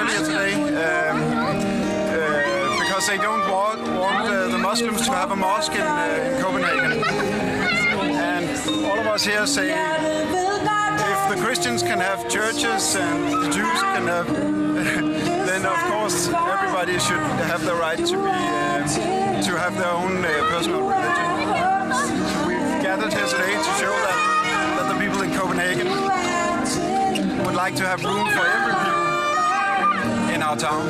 earlier today because they don't want the Muslims to have a mosque in Copenhagen. And all of us here say if the Christians can have churches and the Jews can have, then of course everybody should have the right to have their own personal religion. So we've gathered here today to show that the people in Copenhagen would like to have room for every people in our town.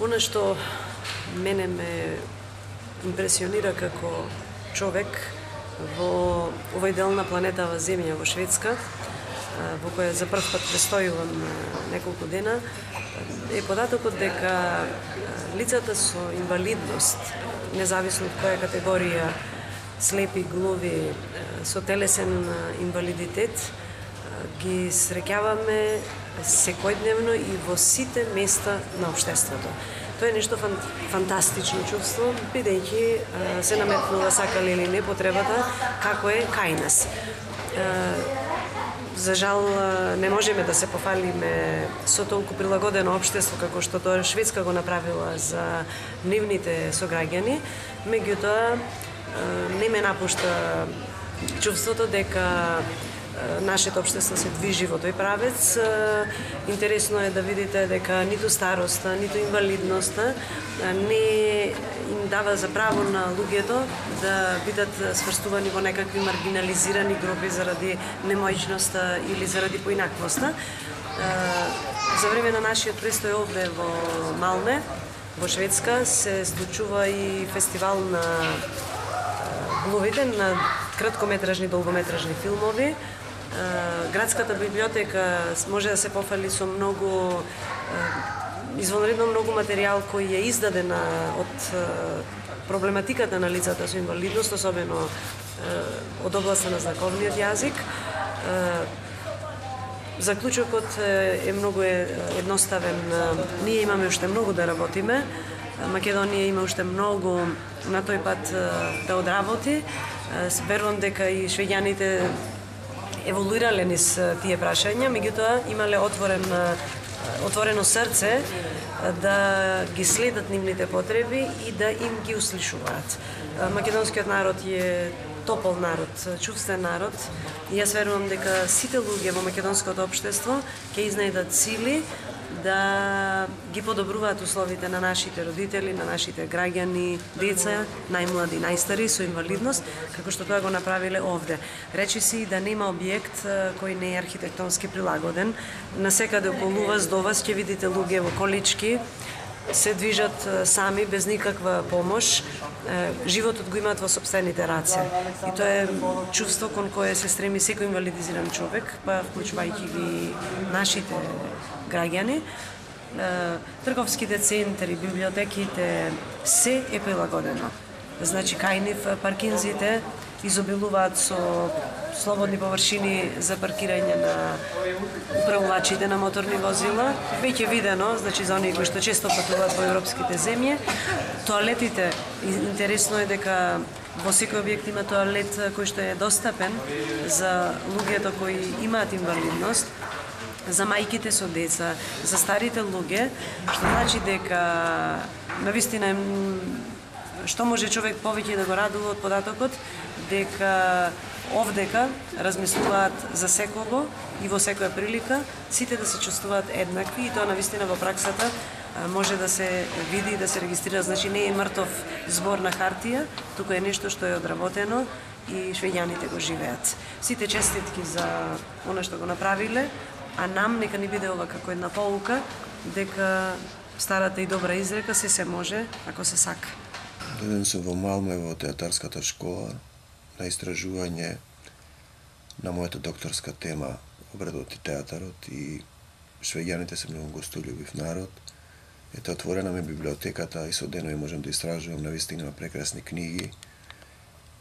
Оно што мене ме импресионира како човек во овој дел на планетава Земја, во Шведска, во која за прв пат престојувам неколку дена, е податокот дека лицата со инвалидност, независно од која категорија, слепи, глуви, со телесен инвалидитет, ги среќаваме секојдневно и во сите места на општеството. Тоа е нешто фантастично чувство, бидејќи се наметнува, сакале или не, потребата како е кај нас. За жал не можеме да се пофалиме со толку прилагодено општество како што тоа Шведска го направила за нивните сограѓани, меѓутоа не ме напушта чувството дека нашето општество се движи во тој правец. Интересно е да видите дека ниту староста, ниту инвалидноста не им дава за право на луѓето да бидат сврстувани во некакви маргинализирани групи заради немојчноста или заради поинаквоста. За време на нашиот престој овде во Малме, во Шведска, се случува и фестивал на глувите, на краткометражни, долгометражни филмови. Градската библиотека може да се пофали со многу извонредно многу материјал кој е издаден од проблематиката на лицата со инвалидност, особено од областа на знаковниот јазик. Заклучокот е многу едноставен. Ние имаме уште многу да работиме. Македонија има уште многу на тој пат да одработи. Верувам дека и швеѓаните еволуирале низ тие прашања, меѓутоа имале отворено срце да ги следат нивните потреби и да им ги услишуваат. Македонскиот народ е топол народ, чувствен народ и јас верувам дека сите луѓе во македонското општество ќе изнајдат сили да ги подобруваат условите на нашите родители, на нашите граѓани, деца, најмлади, најстари со инвалидност, како што тоа го направиле овде. Речи си да нема објект кој не е архитектонски прилагоден. Насекаде околу вас, до вас ќе видите луѓе во колички, се движат сами, без никаква помош. Животот го имаат во сопствените раце. И тоа е чувство кон кое се стреми секој инвалидизиран човек, па вклучувајќи ги нашите граѓани. Трговските центри, библиотеките, се е прилагодено. Значи, кај нив паркинзите изобилуваат со слободни површини за паркирање на управувачите на моторни возила. Веќе видено, значи за оние кои што често патуваат во европските земји, тоалетите, интересно е дека во секој објект има тоалет кој што е достапен за луѓето кои имаат инвалидност. за мајките со деца, за старите луѓе, што значи дека навистина што може човек повеќе да го радува од податокот дека овдека размислуваат за секого и во секоја прилика сите да се чувствуваат еднакви и тоа навистина во праксата може да се види и да се регистрира, значи не е мртов збор на хартија, туку е нешто што е одработено и швеѓаните го живеат. Сите честитки за она што го направиле, а нам нека ни биде ова како една поука дека старата и добра изрека се може ако се сака. Дојден сум во Малме во театарската школа на истражување на мојата докторска тема обредот и театарот и швеѓаните се многу гостолюбив народ. Ете отворена ми библиотеката и со денови можам да истражувам навистина прекрасни книги.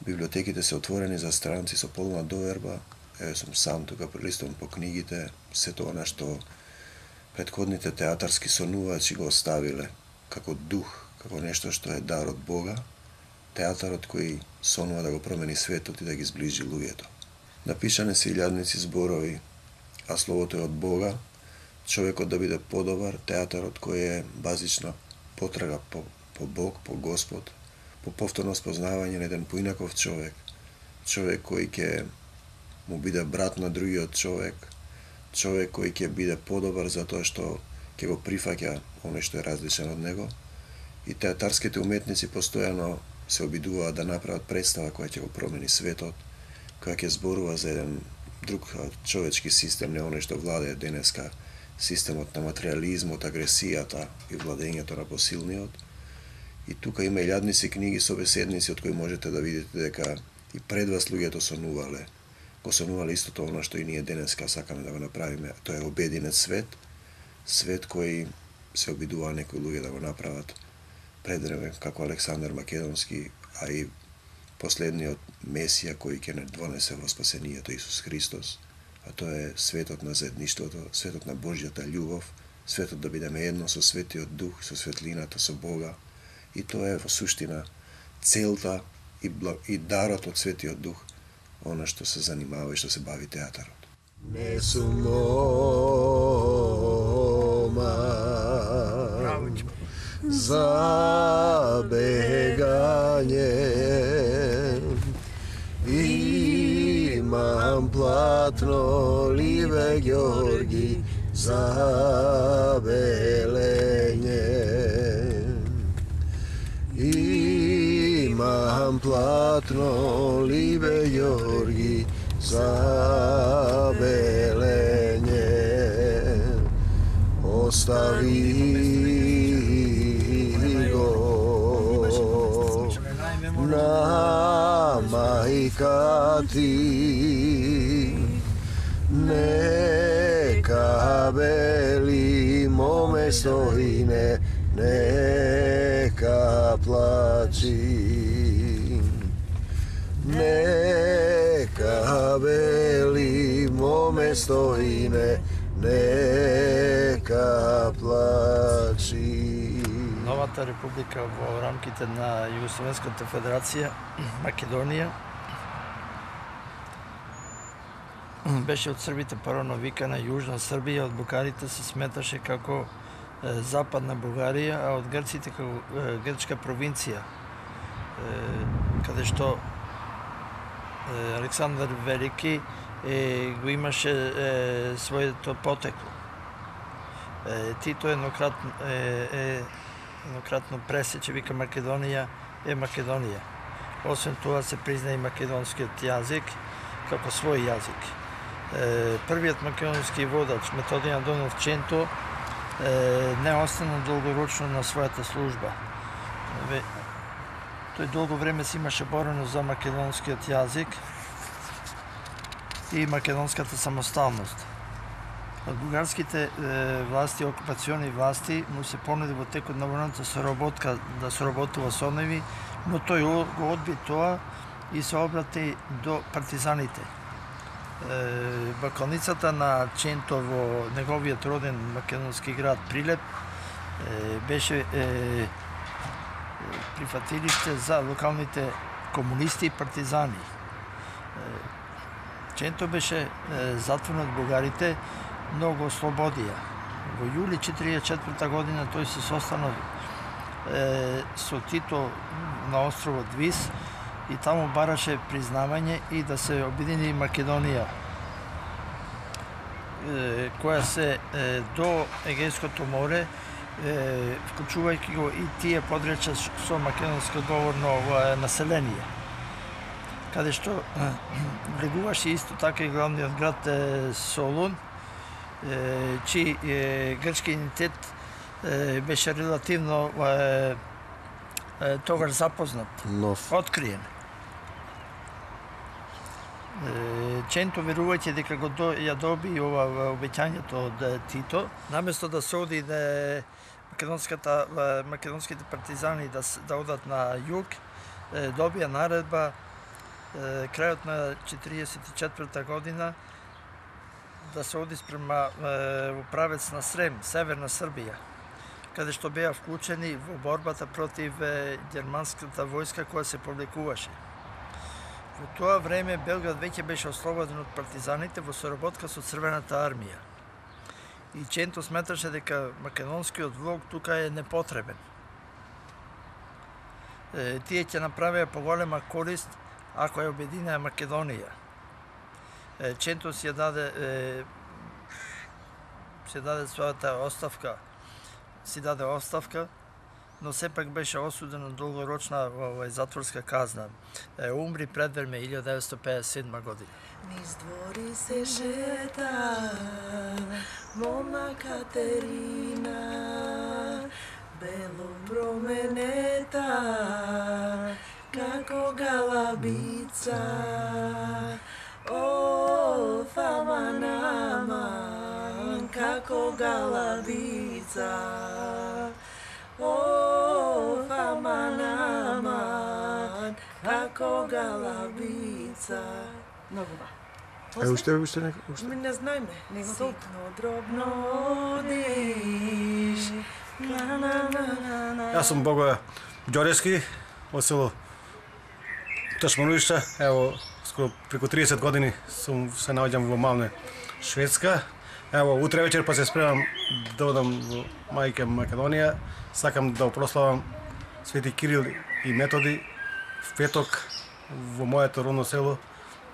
Библиотеките се отворени за странци со полна доверба. Еве сум сам тука прелистувам по книгите, сето она што претходните театарски сонувачи го оставиле како дух, како нешто што е дар од Бога, театарот кој сонува да го промени светот и да ги сближи луѓето. Напишане се илјадници зборови, а словото е од Бога, човекот да биде подобар, театарот кој е базична потрага по Бог, по Господ, по повторно спознавање на еден поинаков човек, човек кој ќе му биде брат на другиот човек, човек кој ќе биде подобар затоа што ќе го прифаќа оној што е различен од него. И театарските уметници постојано се обидуваат да направат представа која ќе го промени светот, која ќе зборува за еден друг човечки систем, не оној што владее денеска, системот на материализмот, агресијата и владењето на посилниот. И тука има илјадници книги со беседници од кои можете да видите дека и пред вас луѓето сонувале. Го сонувале истото оно што и ние денеска сакаме да го направиме. Тоа е обединет свет, свет кој се обидува некои луѓе да го направат предреме, како Александар Македонски, а и последниот Месија кој ќе не донесе во спасението Исус Христос. А тоа е светот на заедништвото, светот на Божјата љубов, светот да бидеме едно со Светиот Дух, со светлината, со Бога. И тоа е во суштина целта и дарот од Светиот Дух, она што се занимава и што се бави театарот. Не сум мома за бегање, имам платно ливе Ѓорги за белење. Имам платно ливе Ѓорги за белење. Остави на мајка ти, нека бели моме стоине, нека плачи, нека бели моме стоине, нека плачи. Новата република во рамките на Југословенската федерација Македонија беше од србите парано викана Јужна Србија, од бугарите се сметаше како Западна Бугарија, а од грците како грчка провинција, каде што Александар Велики го имаше своето потекло. Тито еднократно пресече, вика Македонија е Македонија. Освен тоа се призна и македонскиот јазик како свој јазик. Првиот македонски водач Методијан Донов Ченто не остана долгорочно на својата служба. Тој долго време си имаше борено за македонскиот јазик и македонската самосталност. Од бугарските власти, окупациони власти, му се понуди во текот на војната соработка да соработува со нив, но тој го одби тоа и се обрати до партизаните. Бакалницата на Ченто во неговиот роден македонски град Прилеп беше прифатилиште за локалните комунисти и партизани. Ченто беше затворен од бугарите, многу ослободија. Во јули 1944 година тој се состанал со Тито на островот Вис и таму бараше признавање и да се обедини Македонија, која се до Егејското море, вклучувајќи го и тие подречја со македонско говорно население, каде што влегуваше исто така и главниот град Солун, чиј грчки идентитет беше релативно тогаш запознат, откриен. Ченто верувајќи дека го ја доби ова обеќањето од Тито, наместо да се оди македонските партизани да одат на југ, добија наредба крајот на 1944 година да се оди спрема во правец на Срем, северна Србија, каде што беа вклучени во борбата против германската војска која се повлекуваше. Во тоа време Белград веќе беше ослободен од партизаните во соработка со Црвената армија. И Ченто сметаше дека македонскиот влог тука е непотребен. Тие ќе направеа поголема корист ако ја обединеа Македонија. Ченто си даде својата оставка, но сепак беше осуден на долгорочна затворска казна. Умри предвреме 1957 година. Низ двори се шета мома Катерина, бело променета како галабица. О, фама наман како галабица. О, фама наман како галабица. Многу ба. Уште некој? Ми не знаеме. Ситно дробно диш. Јас сум Богоја Ѓорески, од село Ташмануишта. Ево, скоро преку 30 години се наоѓам во Малне, Шведска. Ево, утре вечер па се спремам да одам во мајка Македонија. Сакам да прославам Свети Кирил и Методи в петок во моето родно село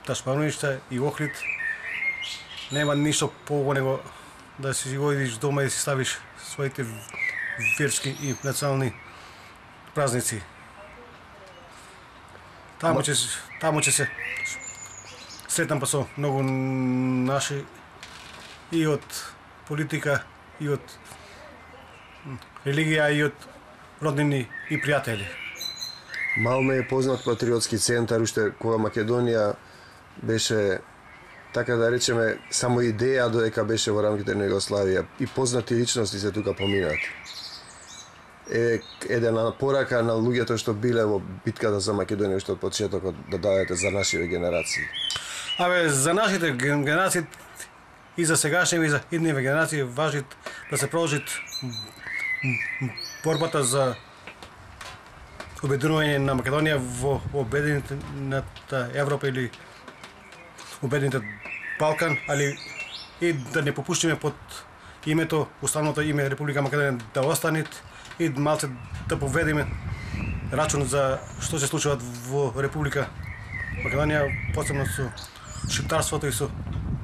Ташмануишта и Охрид. Нема ништо поубаво него да си одиш дома и си ставиш своите верски и национални празници. Таму ќе се сретам па со многу наши и од политика, и од религија, и од роднини и пријатели. Малме е познат патриотски центар, уште кога Македонија беше, така да речеме, само идеја додека беше во рамките на Југославија и познати личности се тука поминат. Едена порака на луѓето што биле во битката за Македонија уште од почетокот да дадете за нашите генерации. За нашите генерации и за сегашните и за идниве генерации важи да се продолжи борбата за обединување на Македонија во обединената Европа или обединетиот Балкан, али и да не попуштиме под името, уставното име Република Македонија да остане и малце да поведеме рачун за што се случува во Република Македонија, посебно со шиптарството и со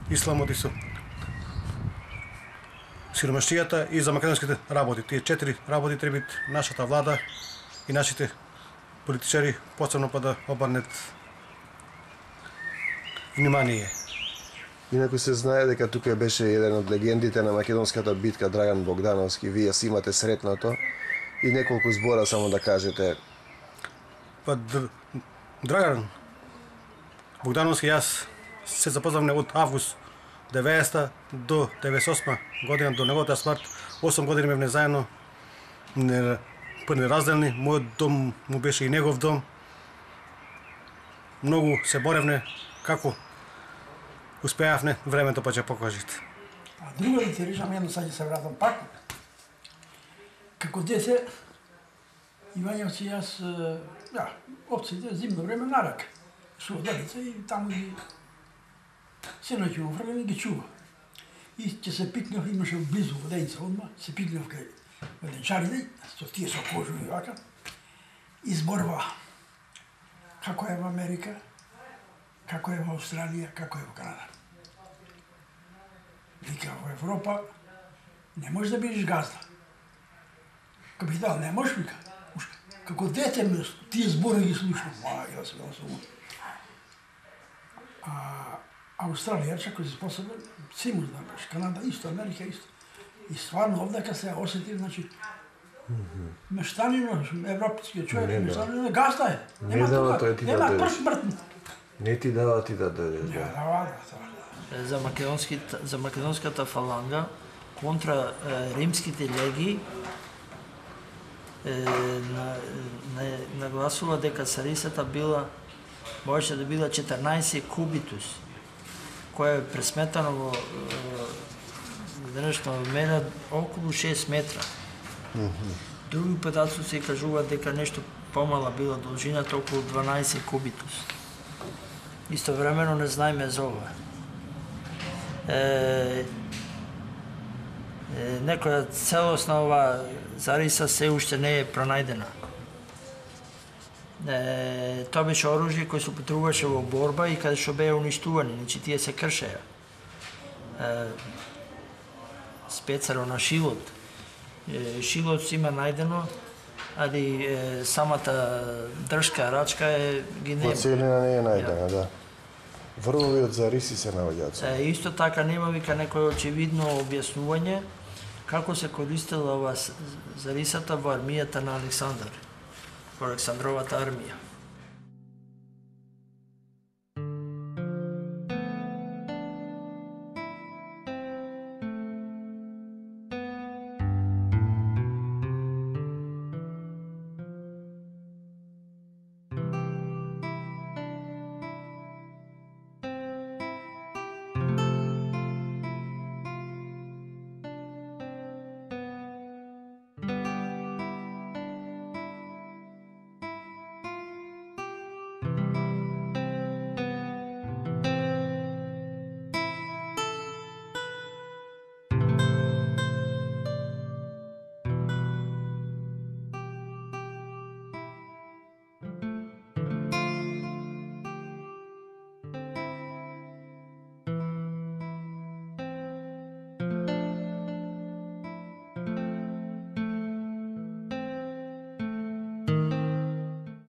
исламот и со сиромаштијата и за македонските работи. Тие 4 работи треба нашата влада и нашите политичари посебно па да обрнет внимание. Инаку се знае дека тука беше еден од легендите на македонската битка Драган Богдановски. Вие си имате сретното и неколку збора само да кажете. Па Драган Богдановски јас се запознавме од август 90 до 98 година до неговата смрт. 8 години бевме заедно неразделни. Мојот дом му беше и негов дом. Многу се боревне како успеавне, времето па ќе покажете. А друго да ти речам едно, сега ќе се вратам пак. Како дете, Ивањев си јас, овците зимно време нарак. Со дедица и таму ги се наќу офрлен и ги чува. и ќе се пикнав, имаше близу воденица одма, се пикнав кај воденчарите, со тие со кожуви вака, и зборува како е во Америка, како е во Австралија, како е во Канада. Вика, во Европа не можеш да бидеш газда. Капитал, не можеш, вика. Како дете ме, тие збори ги слушам, јас бил сум. Австралија, кој се посебен, симус да беше, Канада исто, Америка исто. И стварно овдека се осети, значи, мештанино, европскиот човек, мештанино, газда е. Нема тука, нема прш мртно. Не ти дава ти да дојдеш, да. За македонската фаланга, контра римските леги, нагласува дека царицата можеше да била 14 кубитус, која е пресметано во денешно време околу 6 метра. Други податоци се кажуваат дека нешто помала била должината, околу 12 кубитус. Истовремено не знаеме за ова. Некоја целосна ова зариса се уште не е пронајдена. Тоа беше оружје кој се употребуваше во борба и каде што беа уништувани, значи тие се кршеа. Спецаро на шилот. Шилот има најдено, али самата држка, рачка ги нема. Целина не е најдена, да. Врвови од зариси се наоѓаат. Исто така нема вика некој очевидно објаснување како се користела ова зарисата во армијата на Александар, во Александровата армија.